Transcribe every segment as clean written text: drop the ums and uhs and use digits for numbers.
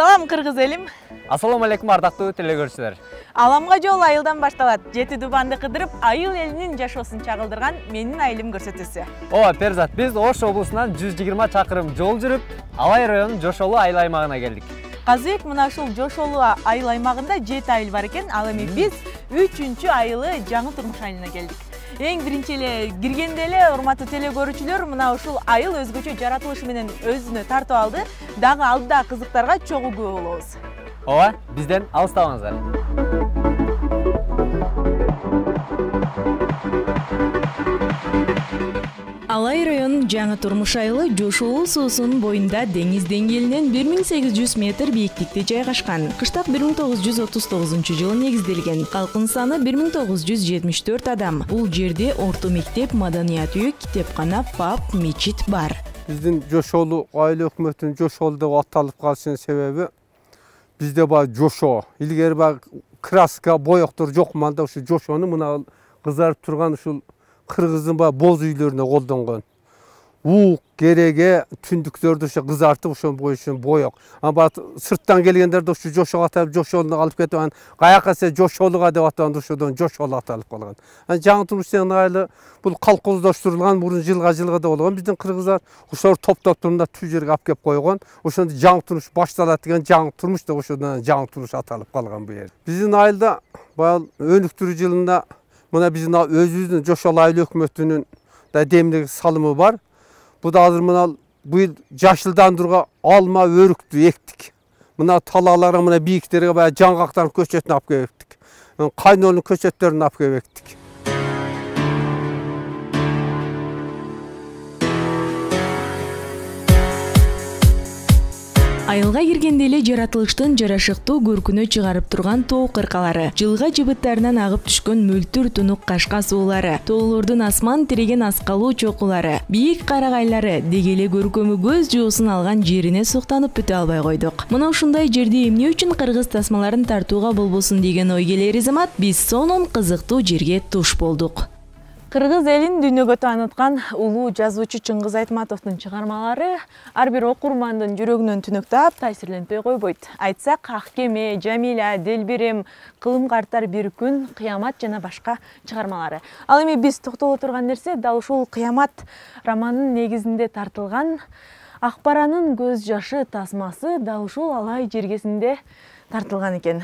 Салам кыргыз элим. Ассаламу алейкум ардактуу телекөрүүчүлөр. Аламга жол айылдан башталат. Жети дубанды кыдырып, айыл элинин жашоосун чагылдырган менин айылым көрсөтүүсү. Ооба, Перзат, биз Ош облусунан 120 чакырым жол жүрүп, Алай районунун Жошолу айыл аймагына келдик. Казыбек, мына ушул Жошолу айыл аймагында 7 айыл бар экен. Ал эми биз 3-чү айылы Жаңы Турмуш айылына келдик. Эң биринчи эле киргенде эле, урматтуу телекөрүүчүлөр, мына ушул айыл өзгөчө жаратылышы менен өзүнө тартып алды. Дагы алдыда кызыктарга чогуу күбө болобуз. Ооба, бизден алыстабаңыздар. Алай районунун Жаңы Турмуш айылы Жошолу суусунун боюнда деңиз деңгээлинен 1800 метр бийиктикте жайгашкан. Кыштап 1939-жылы негизделген. Калкынын саны 1974 адам. Бул жерде орто мектеп, маданият үйү, китепкана, паб, мечит бар. Биздин Жошолу айыл өкмөтүнүн Жошолу деп аталып калышынын себеби бизде бар Жошо. Илгери бар краска, боектор жок манда ушу Жошону мына кызарып турган ушул кыргыздын бар боз үйлөрүнө колдонгон. Уук, кереге, түндүктөрдү ошо кызартып ошон боюшун боек. Ана сырттан келгендерди ушу Жошого атап, Жошолуну алып кетип, анан каяка се Жошолуга деп атаган ошодон Жошолу аталып калган. Анан Жаңы Турмуштун айылы бул колхоздоштурулган, мурун жылга да болгон. Биздин кыргыздар ошол топтоп турганда түз жерге алып келип койгон. Ошондо Жаңы Турмуш башталат деген Жаңы Турмуш деп ошодон Жаңы Турмуш аталып калган бу жер. Биздин айылда баягы өнүктүрүү жылында мына биздин өзүбүздүн Жошолу айыл өкмөтүнүн да демдик салымы бар. Бу да азыр мына быйыл жашылдандырууга алма, өрүктү эктик. Мына талааларга, мына бийиктерге баягы жаңгактардын көчөтүн алып келип эктик. Кайнонун көчөттөрүн алып келип эктик. Айылга киргенде эле жаратылыштын жарашыктуу көркүнө чыгарып турган тоо кыркалары, жылга жыбыттарынан агып түшкөн мөлтүр тунук кашка суулары, тоолордун асман тиреген аскалуу чокулары, бийик карагайлары деги эле көркөмү көз жоосун алган жерине суктанып бүтө албай койдук. Мына ушундай жерде эмне үчүн кыргыз тасмаларын тартууга болбосун деген ой келери замат биз сонун кызыктуу жерге туш болдук. Кыргыз элин дүйнөгө тааныткан улуу жазуучу Чыңгыз Айтматовдун чыгармалары ар бир окурмандын жүрөгүнөн түнөктөп, таасирлентпей койбойт. Айтсак, Ак кеме, Жамиля, Делбирем, Кылым карттар бир күн, Кыямат жана башка чыгармалары. Ал эми биз токтоло турган нерсе дал ушул Кыямат романынын негизинде тартылган Акбаранын көз жашы тасмасы дал ушул Алай жергесинде тартылган экен.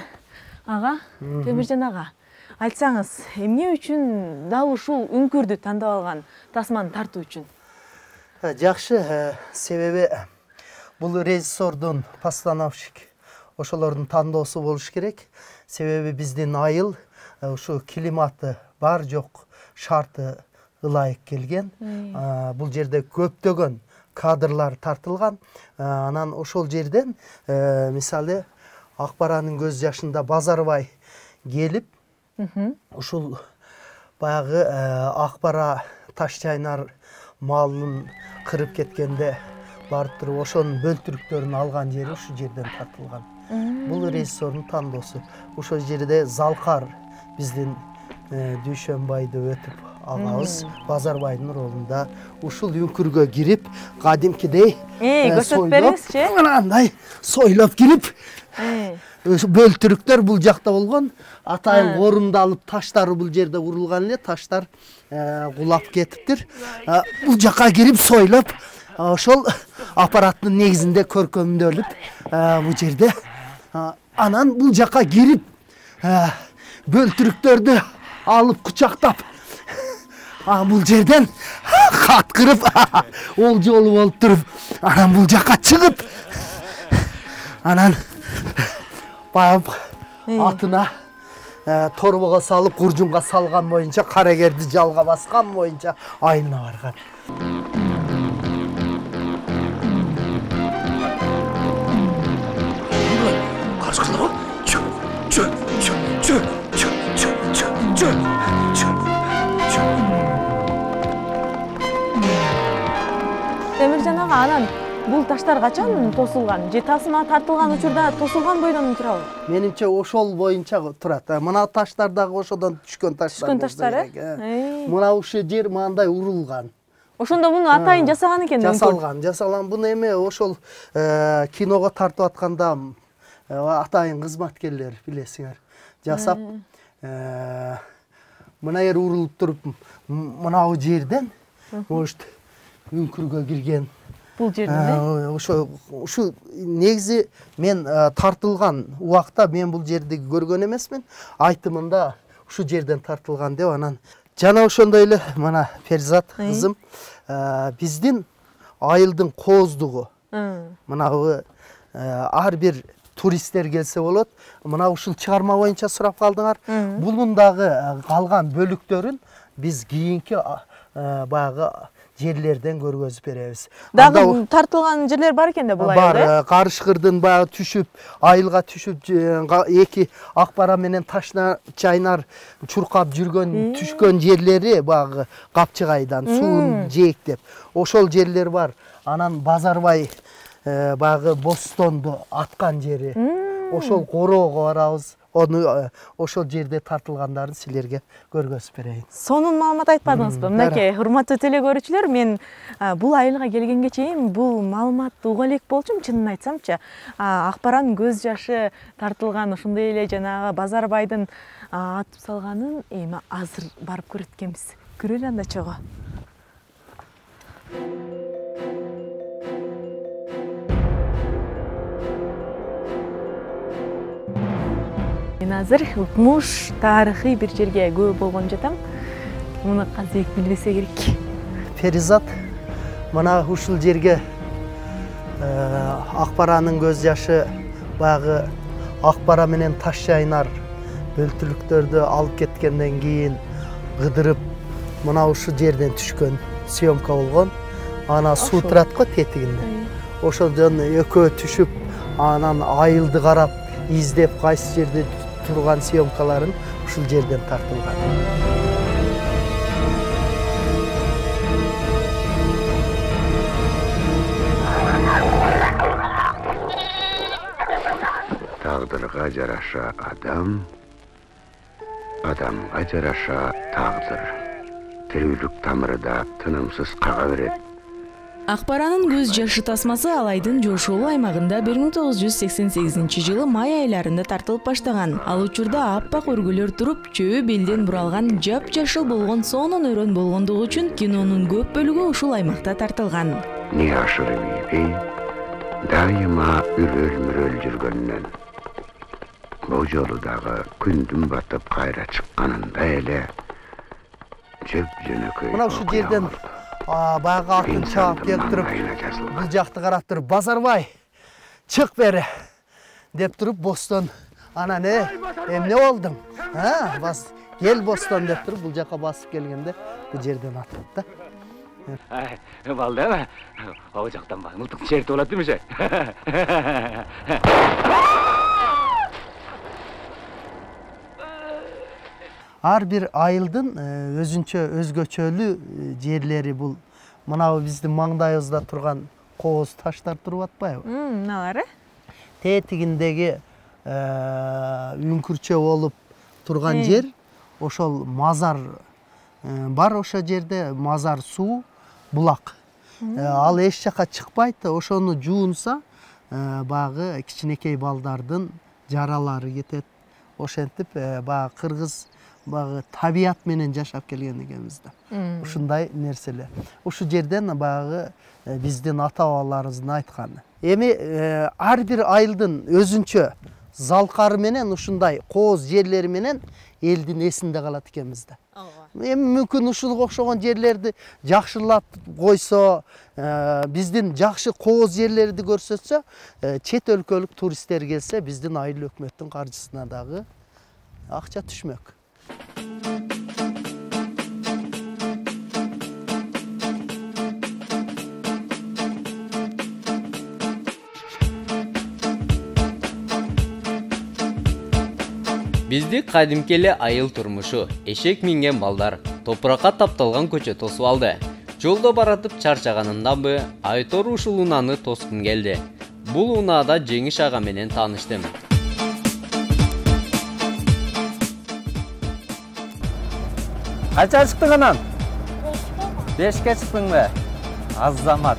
Ага, Темиржан ага, айтсаңыз, эмне үчүн дал ушул үңкүрдү тандап алган тасманы тартуу үчүн? Жакшы, себеби бул режиссердун постановщик ошолордун тандоосу болуш керек. Себеби биздин айыл ушу климаты бар жок шарты ылайык келген. Бул жерде көптөгөн кадрлар тартылган. Анан ошол жерден мисалы Акбаранын көз жашында Базарбай келип ушул баягы Акбара Ташчайнар малын кырып кеткенде барып туруп ошонун бөлтүрүктөрүн алган жери ушу жерден тартылган. Бул режиссердун тандоосу. Ошол жерде Залкар биздин Дүйшөнбайды өтүп агабыз Базарбайдын ролунда ушул үңкүргө кирип, кадимкидей көрсөтүп бериңизчи. Мынандай сойлоп кирип бөлтүрүктөр бул жакта болгон. Атайын корунду алып таштары бул жерде урулган эле, таштар кулап кетиптир. Бул жака кирип сойлоп, ошол аппараттын негизинде көркөмдөлүп бул жерде. Анан бул жака кирип бөлтүрүктөрдү алып кучактап бул жерден каткырып ол жолу болуп туруп, анан бул жака чыгып, анан баягы атына торбого салып, куржунга салган боюнча, карегерди жалга баскан боюнча айылына барган. Карышкылар, Темиржан ага, анан бул таштар качан тосулган? Же тасма тартылган учурда тосулган бойдон турабы? Менимче ошол боюнча турат. Мына таштар дагы ошодон түшкөн таштар. Түшкөн таштар, Мына ушул жер мындай урулган. Ошондо муну атайын жасаган экен. Жасалган. Буну эме ошол киного тартып атканда атайын кызматкерлер билесиңер жасап мына жер урулуп туруп мынау жерден может үңкүргө кирген бул жерден ушу негизи мен тартылган убакта мен бул жерди көргөн эмесмин, айтымында ушу жерден тартылган деп анан жана ошондой эле мына Перизат кызым биздин айылдын кооздугу мынабы ар бир туристтер келсе болот. Мына ушул чыгарма боюнча сурап калдыңар. Булундагы калган бөлүктөрүн биз кийинки баягы жерлерден көргөзүп беребиз. Дагы тартылган жерлер бар экен да бул айылда? Бар, Карышкырдын баягы түшүп, айылга түшүп, эки Акбара менен Ташна чайнар чуркап жүргөн, түшкөн жерлери баягы Капчыгайдан суун жээктеп. Ошол жерлер бар. Анан Базарбай баягы Бостонду аткан жери. Ошол короого барабыз. Onu ошол жерде тартылгандарын силерге көргөзүп берейин. Сонун маалымат айтпадыңызбы? Мынакей, урматтуу теле көрүүчүлөр, мен бул айылга келгенге чейин бул маалыматты уга элек болчумун, чынын айтсамчы. Акбаранын көз жашы тартылган, ошондой эле жанагы Базарбайдын атып салганын эми азыр барып көрөт экенбиз. Көрөлү анда чого. Мен азыр Укмуш тарыхый бир жерге көп болгон жатам. Муну казык билбесе керек. Перизат мына ушул жерге Акбаранын көз жашы баягы Акбара менен Таш чайнар бөлтүлүктөрдү алып кеткенден кийин кыдырып мына ушул жерден түшкөн съемка болгон. Ана суу турат го тетигинде. Ошондон экөө түшүп, анан айылды карап, издеп кайсы жерде турган съемкаларын ушул жерден тартылган. Тагдырга жараша адам, адамга жараша тагдыр. Тирүүлүк тамырыда тынымсыз кага берет. Акбаранын көз жашы тасмасы Алайдын Жошолу аймагында 1988-жылы май айларында тартылып баштаган. Ал учурда аппак өргөлөр туруп, чөбү белден буралган, жап-жашыл болгон, сонун өрөн болгондугу үчүн кинонун көп бөлүгү ушул аймакта тартылган. Не ашырып ийбей, дайыма үрөл-мүрөл жүргөндөн. Бул жолу дагы күндүн батып кайра чыкканында эле жөп-жөнөкөй. Мына ушул жерден баягы атын чаап кеп туруп, бул жакты карап туруп, Базарбай, чык бери деп туруп, Бостон анан эмне болдуң? Бас кел Бостон деп туруп, бул жака басып келгенде бул жерден атат да. Балда, ал жактан мылтык чертип алат эмесе? Ар бир айылдын өзгөчөлүү жерлери бул. Мынабы биздин маңдайыбызда турган кооз таштар туруп атпайбы? Мыналары? Тетигиндеги үңкүрчө болуп турган жер, ошол мазар бар, ошол жерде мазар суу, булак. Ал эч жака чыкпайт, ошону жуунса, баягы кичинекей балдардын жаралары кетет. Ошентип баягы кыргыз табият менен жашап келген экенбиз да. Ушундай нерселер. Ушу жерден баягы биздин ата-бабаларыбыздын айтканы. Эми ар бир айылдын өзүнчө залкары менен ушундай кооз жерлери менен элдин эсинде калат экенбиз да. Эми мүмкүн ушуга окшогон жерлерди жакшылап койсо, биздин жакшы кооз жерлерди көрсөтсө, чет өлкөлүк туристтер келсе, биздин айыл өкмөттүн каржысына дагы акча түшмөк. Бизди кадимки эле айыл турмушу, эшек минген балдар, топуракка тапталган көчө тосуп алды. Жолдо баратып чарчаганымданбы, Айтор ушул унааны тоскум келди. Бул унаада Жеңиш ага менен тааныштым. Кача чыктың анан? 5ке чыктыңбы? Азамат.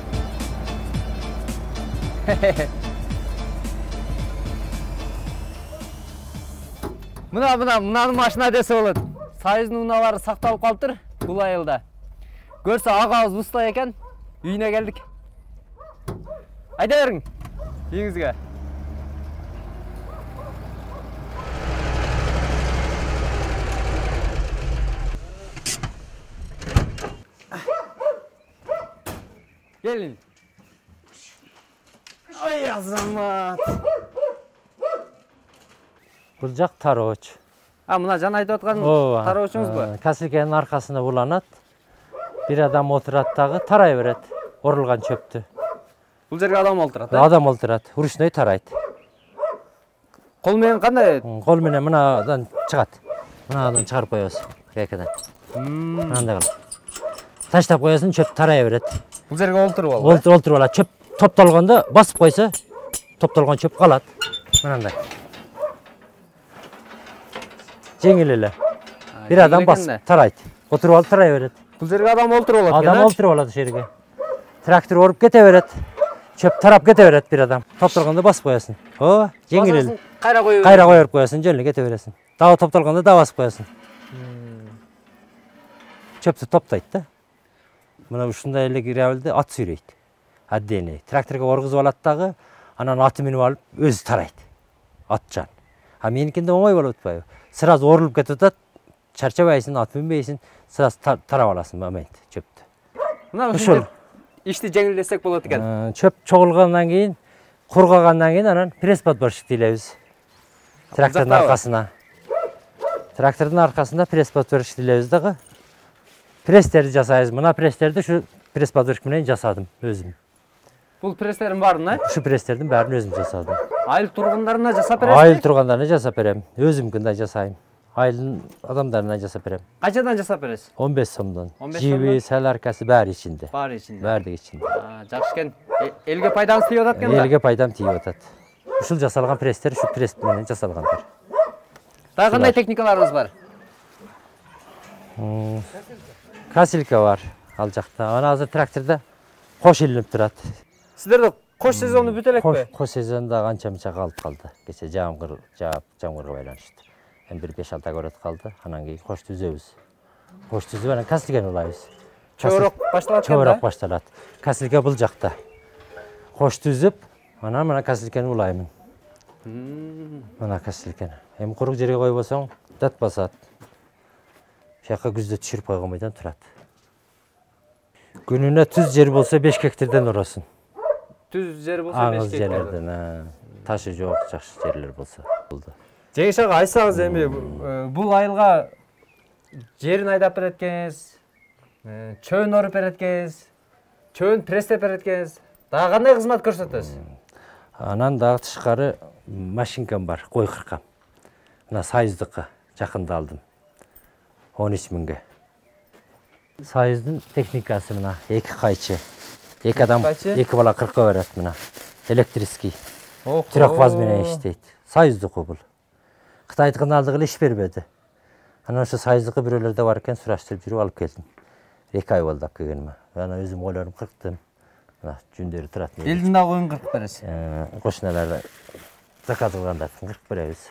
Мынаны машина десе болот. Союздун унаалары сакталып калыптыр бул айылда. Көрсө агабыз уста экен, үйүнө келдик. Айда бериң. Үйүңүзгө. Gelin. Ay azamат. Бул жак тароч. Мына жана айтып аткан тароочуңузбу? Касилкенин аркасына уланат. Бир адам отурат дагы тарай берет орулган чөптү. Бул жерге адам олтурат, Адам олтурат, ручной тарайт. Кол менен кандай? Кол менен мынадан чыгат. Мынадан чыгарып коесуң, кекеден. Мынандай кылып. Таштап коесуң, чөп тарай берет. Бул жерге олтуруп алып. Олтуруп алат. Чөп топтолгондо басып койсо, топтолгон чөп калат. Мынандай. Жеңил эле. Бир адам басып тарайт. Отуруп алып тарай берет. Бул жерге адам олтуруп алат. Адам олтуруп алат ошол жерге. Трактор оруп кете берет. Чөп тарап кете берет бир адам. Топтолгондо басып коесуң. Жеңил эле. Кайра коюп коесуң, жөн эле кете бересиң. Дагы топтолгондо дагы басып коесуң. Чөптү топтойт да. Мына ушундай эле гравилди ат сүйрөйт. Отдельный. Тракторго оргузуп алат дагы, анан аты минип алып өзү тарайт. Атчан. Меникинде оңой болуп атпайбы? Сразу орулуп кетип атат. Чарчабайсың, ат минбейсиң, сразу тарап аласың момент чөптү. Мына ушул ишти жеңилдетсек болот экен. Чөп чогулгандан кийин, кургагандан кийин анан пресс-подборщик тейлебиз. Трактордун аркасына. Трактордун аркасында пресс-подборщик тейлебиз дагы. Пресстерди жасайбыз. Мына пресстерди ушу пресс-подборщик менен жасадым өзүм. Бул пресстердин баарын, Ушу пресстердин баарын өзүм жасадым. Айыл тургундарына жасап бересиз? Айыл тургундарына жасап берем. Өзүмкүндай жасайм. Айылдын адамдарына жасап берем. Качадан жасап бересиз? 15 сомдон. 15 Жиби, саларкасы баары ичинде. Баары ичинде. Баардыгы ичинде. Жакшы экен. Элге пайдаңыз тийип атат экен да? Элге пайдам тийип атат. Ушул жасалган пресстер ушу пресс менен жасалгандар. Дагы кандай техникаларыңыз бар? Касилка бар ал жакта. Ана азыр тракторда кош илинип турат. Сиздерде кош сезону бүтө элекпи? Кош сезонда канча-мынча калып калды. Кече жамгырга байланыштуу. Бир 5-6 көрөт калды. Анан кийин кош түзөбүз. Кош түзүп анан касилкени улайбыз. Чөбөрөк башталат экен да? Чөбөрөк башталат. Касилка бул жакта. Кош түзүп, анан мына касилкени улаймын. Мына касилкени. Эми курук жерге койбосоң, дат басат. Жакка күздө түшүрүп койгонбойдон турат. Күнүнө түз жер болсо 5 гектардан урасың. Түз жер болсо 5 гектар. Жерлерден, ташы жок жакшы жерлер болсо болду. Жеңиш ага, айтсаңыз эми бул айылга жерин айдап берет экенсиз, чөбүн оруп берет экенсиз, чөбүн пресстеп берет экенсиз. Дагы кандай кызмат көрсөтөсүз? Анан дагы тышкары машинкам бар, кой кыркам. Мына Союздыкка жакында алдым. 13 миңге. Союздун техникасы мына 2 кайчы. 2 адам 2 бала кырка берет мына. Электрический. Трехфаз менен иштейт. Союздуку бул. Кытайдыкын алдыгы эле иш бербеди. Анан ошо Союздукы бирөөлөрдө бар экен, сураштырып жүрүп алып келдим. 2 ай болду алып келгениме. Анан өзүм койлорум кырктым. Мына жүндөрү турат. Элдин да коюн кыркып бересиз. Кошуналар заказ кылгандарды кыркып беребиз.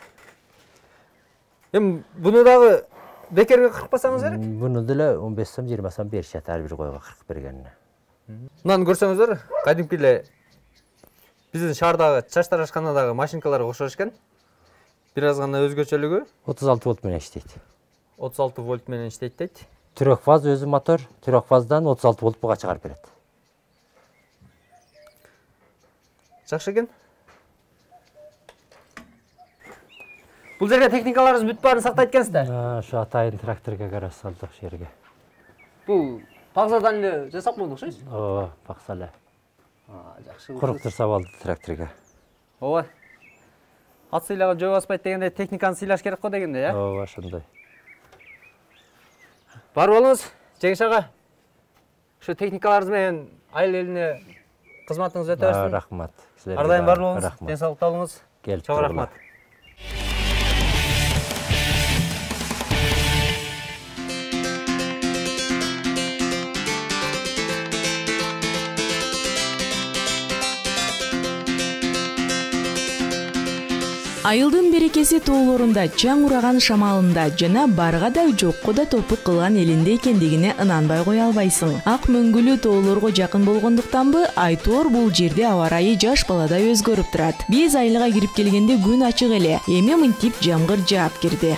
Эми буну дагы бекерге кыркпасаңыз керек? Буну деле 15 сом, 20 сом беришет ар бир койго кыркып бергенине. Мынаны көрсөңүздөр, кадимки эле биздин шаардагы чач тарашканадагы машинкаларга окшош экен. Бир аз гана өзгөчөлүгү 36 вольт менен иштейт. 36 вольт менен иштейт дейт. Трехфаз өзү мотор, трехфаздан 36 вольт буга чыгарып берет. Жакшы экен. Бул жерге техникаларыбыз бүт баарын сактайт экенсиздер. Ошо атайын тракторго карап салдык ошол жерге. Бул багзадан эле жасап койдук окшойсуз? Ооба, бакса эле. Жакшы. Куруктурса болду тракторго. Ооба. Ат сыйлаган жөө баспайт дегенде техниканы сыйлаш керек го дегенде, э? Ооба, ошондой. Бар болуңуз, Жеңиш ага. Ошо техникаларыңыз менен айыл элине кызматыңыз өтө берсин. Рахмат. Ар дайым бар болуңуз, ден соолукта болуңуз. Чоң рахмат. Айылдын берекеси тоолорунда, чаң ураган шамалында жана барга да жокко да топук кылган элинде экендигине ынанбай кое албайсың. Ак мөңгүлүү тоолорго жакын болгондуктанбы, айтор бул жерде аба ырайы жаш баладай өзгөрүп турат. Биз айылга кирип келгенде күн ачык эле, эми мынтип жамгыр жаап кирди.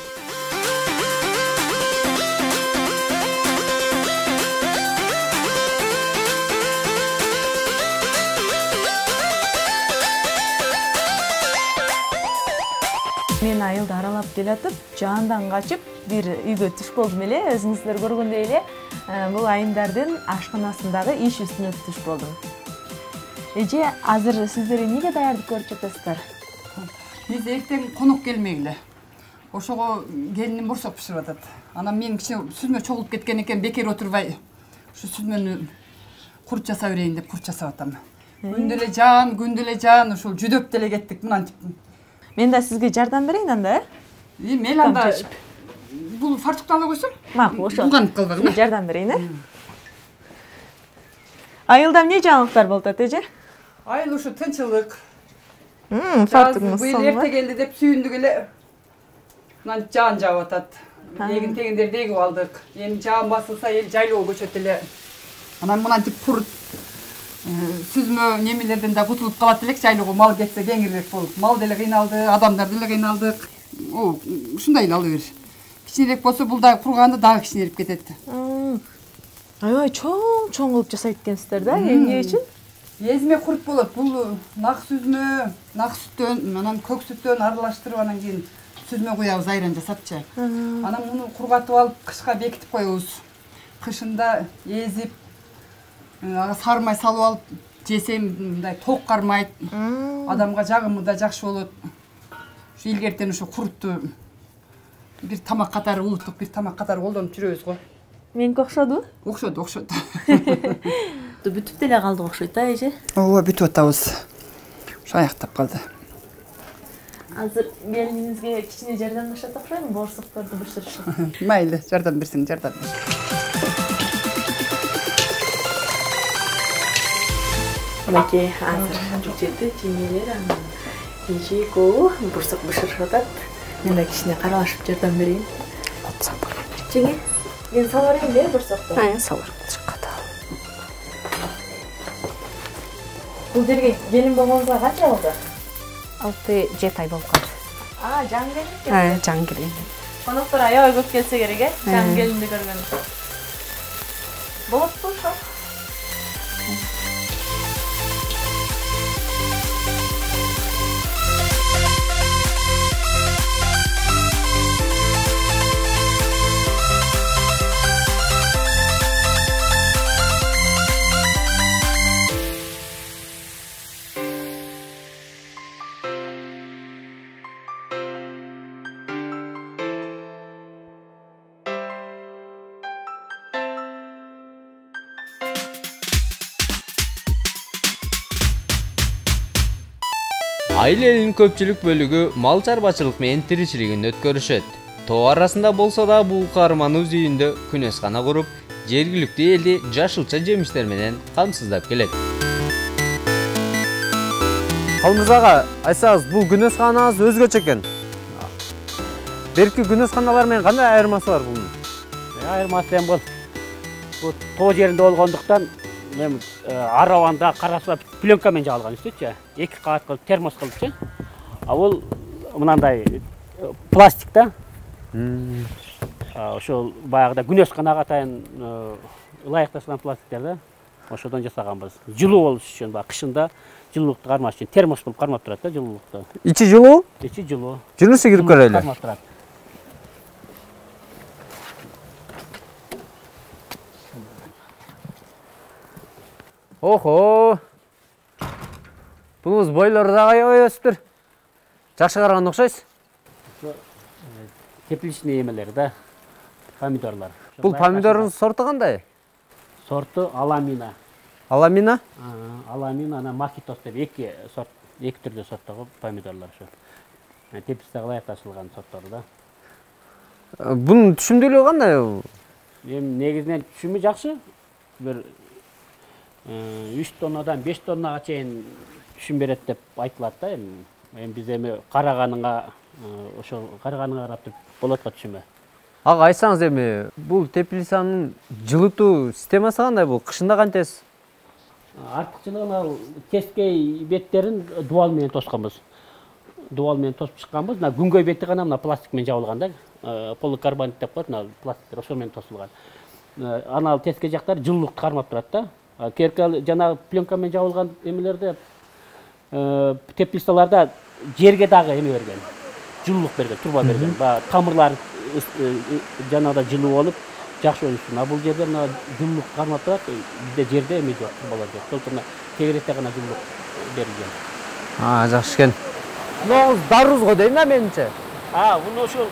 Мен айылды аралап келатып, жаандан качып, бир үйгө туш болдум эле. Өзүңүздөр көргөндөй эле, бул айымдардын ашканасындагы иш үстүнө туш болдум. Эже, азыр сиздер эмнеге даярдык көрүп жатасыздар? Биз эртең конок келмегиле. Ошого келиним борсок бышырып атат. Анан мен кичине сүзмө чогулуп кеткен экен, бекер отурбай, ушу сүзмөнү курт жасап берейин деп курт жасап атам. Күндө эле жаан, ушул жүдөп деле кеттик мынантип. Мен да сизге жардам берейин анда, Мел анда бул фартукту ала койсоң? Макул, ошо. Улганып калбагын. Жардам берейин, Айылда эмне жаңылыктар болуп атат, эже? Айыл ушу тынчылык. Фартугуңуз быйыл эрте келди деп сүйүндүк эле. Мына жаан жаап атат. Эгин тегиндерди эгип алдык. Эми жаан басылса эл жайлоого көчөт эле. Анан мынантип курут сүзмө немелерден да кутулуп калат элек, жайлоого мал кетсе кеңирирээк болуп. Мал деле кыйналды, адамдар деле кыйналдык. Ушундай эле ала бер. Кичинерээк болсо бул дагы курганда дагы кичинерип кетет. Аябай чоң кылып жасайт экенсиздер да, эмне үчүн? Эзме курут болот. Бул нак сүзмө, нак сүттөн, анан көк сүттөн аралаштырып, анан кийин сүзмө куябыз айран жасапчы. Анан муну кургатып алып, кышка бекитип коебуз. Кышында эзип, сармай салып алып жесем мындай ток кармайт. Адамга жагымы да жакшы болот. Ушу илгертен ушу курутту бир тамак катары, улуттук бир тамак катары колдонуп жүрөбүз го. Меники окшоду? Окшоду. Бүтүп деле калдык окшойт да, эже? Ооба, бүтүп атабыз. Ушу аяктап калды. Азыр келиниңизге кичине жардамдашат окшойм, борсокторду бышырышат. Мейли, жардам берсең жардам бер. Мынакей азыр жерде жеңелер, анан эже экөө борсок бышырышып атат. Мен да кичине каралашып жардам берейин. Жеңе, мен салып берейин де борсокту. Салып чыкката. Бул жерге келин болгонуңузга канча болду? 6-7 ай болуп калды. Жаңы келин? Жаңы келин. Коноктор аябай көп келсе керек, жаңы келинди көргөн. Болот ошо. Айыл элинин көпчүлүк бөлүгү мал чарбачылык менен тиричилигин өткөрүшөт. Тоо арасында болсо да бул каарманыбыз үйүндө күнөскана куруп, жергиликтүү элди жашылча жемиштер менен камсыздап келет. Калмыз ага, айсаңыз, бул күнөсканабыз өзгөчө экен. Берки күнөсканалар менен кандай айырмасы бар бунун? Айырмасы эми бул тоо жеринде болгондуктан арабанда карасып пленкамен жабылган үстүчү, 2 кабат кылып термос кылыпчы. А бул мынандай пластик да. Ошол баягыда күнөсканага атайын ылайыкташкан пластиктер да. Ошодон жасаганбыз. Жылуу болуш үчүн, кышында жылуулукту кармаш үчүн термос кылып кармап турат да, жылуулукту. Ичи жылуу? Ичи жылуу. Жүрүңүз кирип көрөлү. Кармап турат. Охо. Бунуз бойлору да аябай өсүптүр. Жакшы караган окшойсуз. Тепличный эмелер да. Помидорлар. Бул помидордун сорту кандай? Сорту Аламина. Аламина? Аламина, ана Макитос деп эки түрдө сорттогу помидорлар ушу. Тепличте ылайыкташылган сорттор да. Бунун түшүмдүүлүгү кандай? Эми негизинен түшүмү жакшы. Бир 3 тоннадан 5 тоннага чейин түшүм берет деп айтылат да эми. Эми биз эми караганыңа ошол караганыңа карап туруп болот го түшүнбө. Ага айтсаңыз эми бул теплицанын жылытуу системасы кандай бул? Кышында кантесиз? Артыкчылыгы ал тескей беттерин дубал менен тосконбуз. Дубал менен тосуп чыкканбыз. Мына күнгөй бети гана мына пластик менен жабылган да. Поликарбонат деп коет, мына пластиктер ошол менен тосулган. Анал тескей жактары жылуулукту кармап турат да. Керкал жана пленка менен жабылган эмелерде теплицаларда жерге дагы эме берген. Жылуулук берген, турба берген. Баягы тамырлар жанагыда жылуу болуп жакшы өнүксүн. А бул жерде мына жылуулук кармап турат, бизде жерде эме жок, турбалар жок. Ошондуктан тегеретте гана жылуулук берилген. Жакшы экен. Муну даруз го дейм да менимче. Муну ушул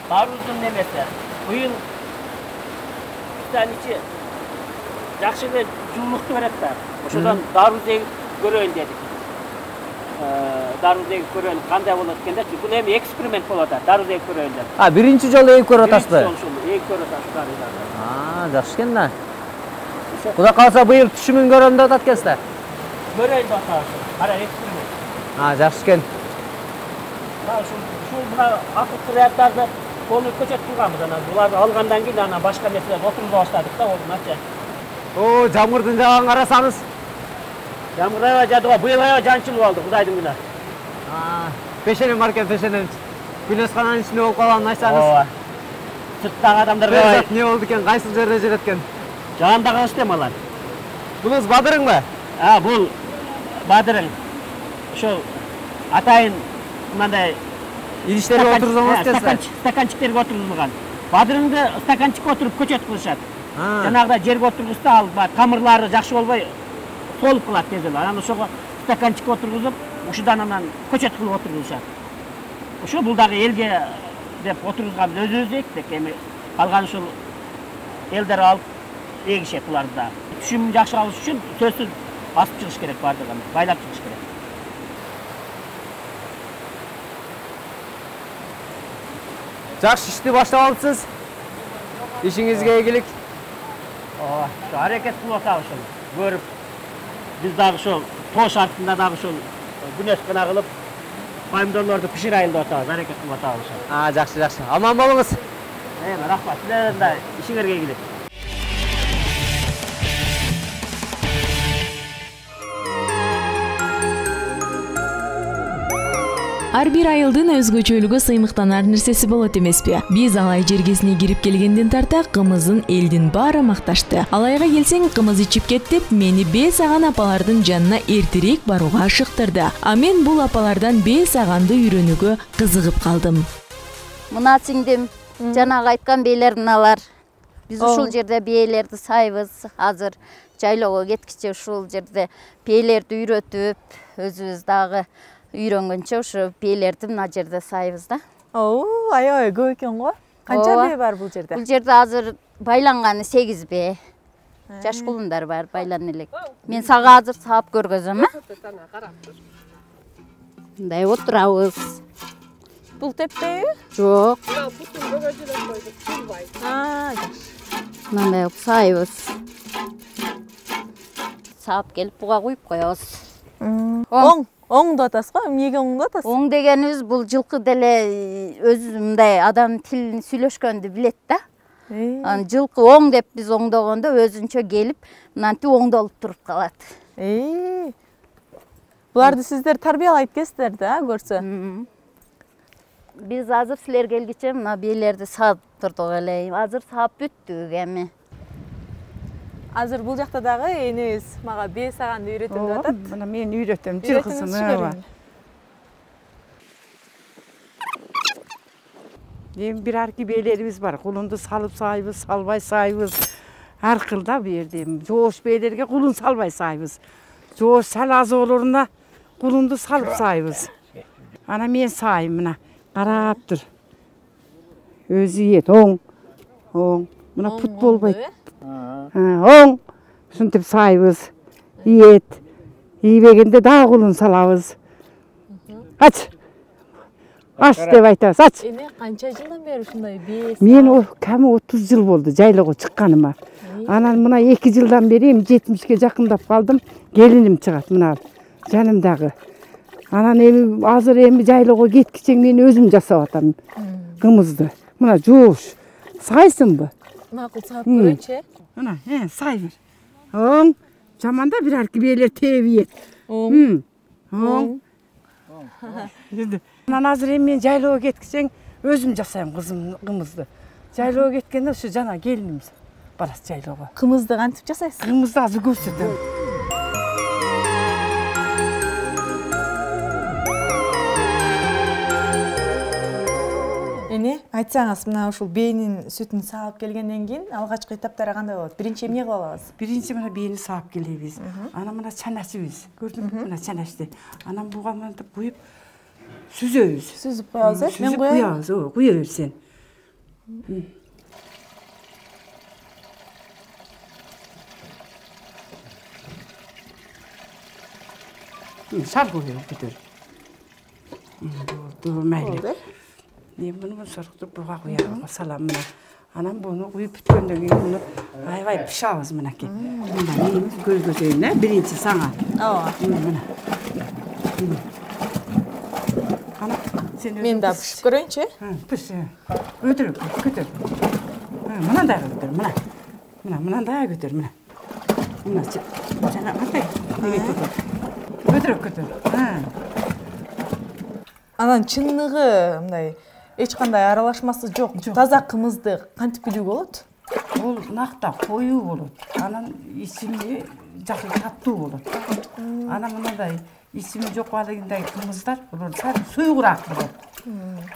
даруздун немеси. Быйыл ичи жакшы эле жылуулукту берет да. Ошодон даруз эгип көрөйүн дедик. Даруз эгип көрөйүн кандай болот экендечи. Бул эми эксперимент болот да, даруз эгип көрөйүн деп. Биринчи жолу эгип көрүп атасызбы? Эгип көрүп атабыз. Жакшы экен да. Кудай кааласа быйыл түшүмүн көрөм деп атат экенсиз да. Көрөйүн деп атабыз. Кара эксперимент. Жакшы экен. Ушул мына акылдуу ряттарды колуп көчөтүп турганбыз. Анан буларды алгандан кийин анан башка нерселерди отургуза баштадык да, мыначы. Жамгырдын жааган карасаңыз. Жамгыр аябай жаады го, быйыл аябай жанчылуу болду, Кудайдын күнү. Пешенем бар экен, пешенем. Күнөскананын ичинде болуп калганын айтсаңыз. Сырттагы адамдарга эмне болду экен, кайсыл жерде жүрөт экен? Жаанда калышты эми алар. Бунуз Бадырыңбы? Бул Бадырың. Ошол атайын мындай идиштерге отургузган экенсиз. Стаканчиктерге отургузулган. Бадырыңды стаканчикке отуруп көчөт кылышат. Жанагыда жерге отургузса, ал тамырлары жакшы болбой солуп калат тез эле. Анан ошого стаканчикке отургузуп, ушудан анан көчөт кылып отургузушат. Ошо бул дагы элге деп отургузганбыз, өзүбүз эктик. Эми калган ушул элдер алып эгишет буларды да. Түшүм жакшы алыш үчүн сөзсүз басып чыгыш керек бардыгын, байлап чыгыш керек. Жакшы ишти баштап алыпсыз. Ишиңизге ийгилик. Аракет кылып атабыз ушул. Көрүп биз дагы ушул тоо шартында дагы ушул күнөш гана кылып помидорлорду пиширайын деп атабыз, аракет кылып атабыз. Жакшы. Аман болуңуз. Рахмат. Силердин да ишиңерге ийгилик. Ар бир айылдын өзгөчөлүгү сыймыктанар нерсеси болот эмеспи? Биз алай жергесине кирип келгенден тарта кымыздын элдин баары макташты. Алайга келсең, кымыз ичип кет деп мени бээ саган апалардын жанына эртерээк барууга ашыктырды. А мен бул апалардан бээ саганды үйрөнүүгө кызыгып калдым. Мына сиңдим, жанагы айткан бээлер мыналар. Биз ушул жерде бээлерди сайбыз. Азыр жайлоого кеткиче ушул жерде бээлерди үйрөтүп, өзүбүз дагы үйрөнгөнчө ушу бээлерди мына жерде сайбыз да. Аябай көп экен го. Канча бээ бар бул жерде? Бул жерде азыр байланганы 8 бээ. Жаш кулундар бар, байлана элек. Мен сага азыр саап көргөзөм, Мындай отурабыз. Бул теппейби? Жок. Мына бутун бөгөжүрөп койдук, турбай. Мындай кылып сайбыз. Саап келип буга куюп коебуз. Оң деп атасыз го, эмнеге оң деп атасыз? Оң дегенибиз бул жылкы деле өзү мындай адам тилин сүйлөшкөндү билет да. Анан жылкы оң деп биз оңдогондо өзүнчө келип, мынантип оңдолуп туруп калат. Буларды сиздер тарбиялайт экенсиздер да, көрсө. Биз азыр силер келгиче мына бээлерди саап турдук эле. Азыр саап бүттүк эми. Азыр бул жакта дагы энебиз мага бээ саганды үйрөтөм деп атат. Мына мен үйрөтөм, жылкысын. Эми бир арки бээлерибиз бар. Кулунду салып сайбыз, салбай сайбыз. Ар кыл да бу жерде. Жоош бээлерге кулун салбай сайбыз. Жоош сал аз болоруна кулунду салып сайбыз. Ана мен сайым мына. Карап тур. Өзү ийет, оң. Мына пут болбойт. Оң. Ушинтип сайбыз. Ийет. Ийбегенде дагы кулун салабыз. Ач. Аш деп айтабыз, ач. Эми канча жылдан бери ушундай бээ? Мен ками 30 жыл болду жайлоого чыкканыма. Анан мына 2 жылдан бери 70ке жакындап калдым. Келиним чыгат мына жанымдагы. Анан эми азыр эми жайлоого кеткиче мен өзүм жасап атам кымызды. Мына жоош. Сайсыңбы? Макул саап көрөйүнчү. Мына, сай бир. Оң. Жаманда бир арки бээлер тебиет. Оң. Анан азыр эми мен жайлоого кеткичең өзүм жасайм кымызды. Жайлоого кеткенде ушу жана келинimiz барат жайлоого. Кымызды кантип жасайсыз? Кымызды азыр көрсөтөм. Эне, айтсаңыз, мына ушул бээнин сүтүн саап келгенден кийин алгачкы этаптары кандай болот? Биринчи эмне кылып алабыз? Биринчи мына бээни саап келебиз. Анан мына чаначыбыз. Көрдүңбү? Мына чаначты. Анан буга мынтип куюп сүзөбүз. Сүзүп коебуз, э? Мен куябыз, куя бер сен. Сар куя көтөр. Болду, мейли. Bunu sarıqtırıp buğa koyalım, salam mına. Anam bunu koyup bitkenden keyin bunu aybay pişabız mınaki. Mına neyimiz göz gözeyine, birinci sana. Mına. Ana, sen özün men da pişip göreyinçi. Piş. Götür, götür. Mına da götür, mına. Mına da götür, mına. Mına, sana atay. Götür, götür. Анан чынныгы мындай эч кандай аралашмасы жок. Таза кымызды кантип билүүгө болот? Ол накта коюу болот. Анан ичими жакшы таттуу болот. Анан мындай ичими жок балыгындай кымыздар болот, суйгураак болот.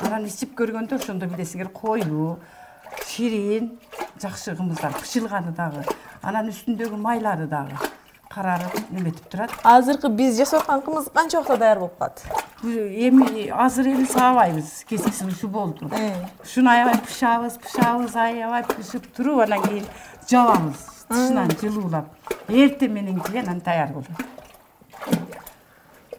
Анан ичип көргөндө ошондо билесиңер коюу, ширин, жакшы кымыздар, бышылганы дагы. Анан үстүндөгү майлары дагы карарып неметип турат. Азыркы биз жасап аткан кымыз канча убакытта даяр болуп калат? Эми азыр эми саабайбыз, кескиси ушу болду. Ушуну аябай пышабыз, аябай пышып туруп, анан кийин жабабыз, тышынан жылуулап. Эртең менен кийин анан даяр болот.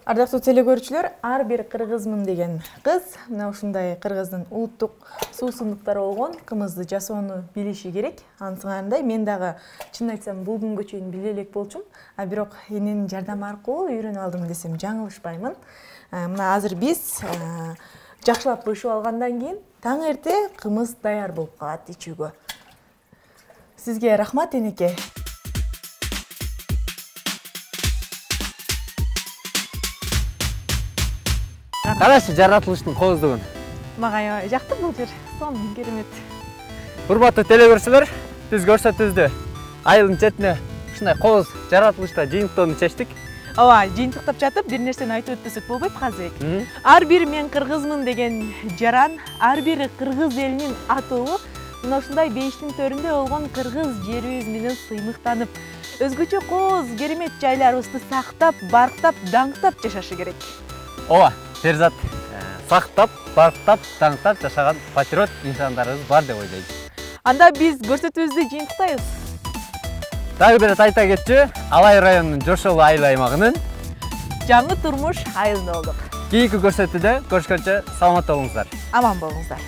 Ардактуу телекөрүүчүлөр, ар бир кыргызмын деген кыз мына ушундай кыргыздын улуттук суусундуктары болгон кымызды жасоону билиши керек. Ансыгандай мен дагы чын айтсам бул күнгө чейин биле элек болчумун, а бирок эненин жардамы аркылуу үйрөнүп алдым десем жаңылышпаймын. Мына азыр биз жакшылап бышып алгандан кийин таң эрте кымыз даяр болуп калат ичүүгө. Сизге рахмат, энеке. Карашы жаратылыштын кооздугун. Мага аябай жакты бул жер. Сонун керемет. Урматтуу телекөрүүчүлөр, биз көрсөтүүбүздө айылдын четине ушундай кооз жаратылышта жыйынтыктоону чечтик. Ооба, жыйынтыктап жатып бир нерсени айтып өтпөсөк болбойт, Казыбек. Ар бир мен кыргызмын деген жаран, ар бир кыргыз элинин атуулу мына ушундай бейиштин төрүндө болгон кыргыз жерибиз менен сыймыктанып, өзгөчө кооз керемет жайларыбызды сактап, барктап, даңктап жашашы керек. Ооба, Перзат сактап, барктап, даңктап жашаган патриот инсандарыбыз бар деп ойлойм. Анда биз көрсөтүүбүздү жыйынтыктайбыз. Дагы бир айта кетчү, Алай районунун Жошол айыл аймагынын жаңы турмуш айылында болдук. Кийинки көрсөтүүдө көрүшкөнчө саламатта болуңуздар. Аман болуңуздар.